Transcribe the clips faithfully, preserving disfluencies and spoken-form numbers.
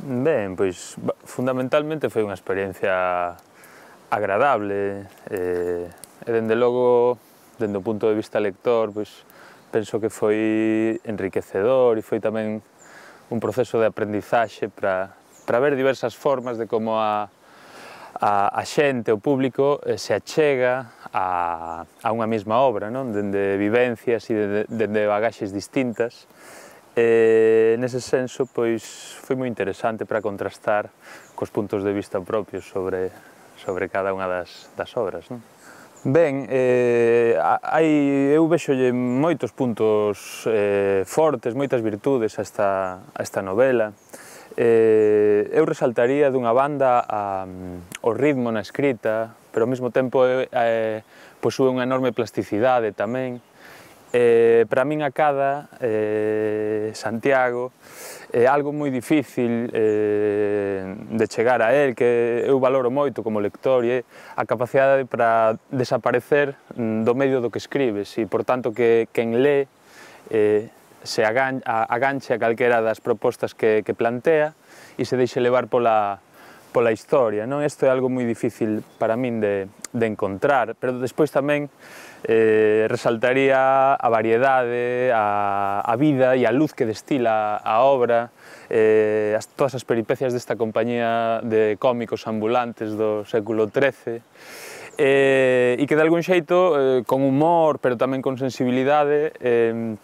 Ben, pois fundamentalmente foi unha experiencia agradable e, e dende logo, dende o punto de vista lector, pois penso que foi enriquecedor e foi tamén un proceso de aprendizaxe para, para ver diversas formas de como a, a, a xente, o público, se achega a, a unha mesma obra, non? Dende vivencias e dende, dende bagaxes distintas. E, nese senso, pois, foi moi interesante para contrastar cos puntos de vista propios sobre, sobre cada unha das, das obras, non? Ben, eh, hai, eu vexolle moitos puntos eh, fortes, moitas virtudes a esta, a esta novela. Eh, eu resaltaría dunha banda a, o ritmo na escrita, pero ao mesmo tempo eh, posúe unha enorme plasticidade tamén. Eh, para min acada eh, Santiago é algo moi difícil eh, de chegar a él, que eu valoro moito como lector, e é a capacidade para desaparecer do medio do que escribes e, por tanto, que quen lé eh, se agan, a, aganche a calquera das propostas que, que plantea e se deixe levar pola, pola historia, non? Isto é algo moi difícil para min de, de encontrar, pero despois tamén Eh, resaltaría a variedade, a, a vida e a luz que destila a obra, eh, as, todas as peripecias desta compañía de cómicos ambulantes do século trece, eh, e que de algún xeito, eh, con humor, pero tamén con sensibilidade, eh,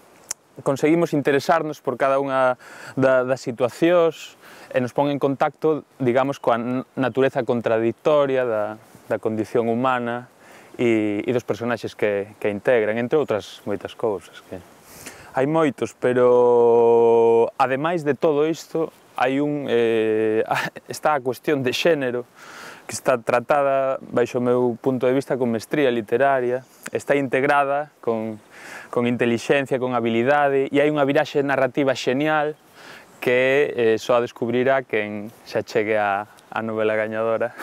conseguimos interesarnos por cada unha da, das situacións e nos pon en contacto, digamos, coa natureza contradictoria da, da condición humana e, e dos personaxes que, que integran, entre outras moitas cousas. Que hai moitos, pero ademais de todo isto, hai un, eh, está a cuestión de xénero, que está tratada, baixo o meu punto de vista, con mestría literaria, está integrada con, con intelixencia, con habilidade, e hai unha viraxe narrativa xenial que eh, só a descubrirá quen se achegue a, a novela gañadora.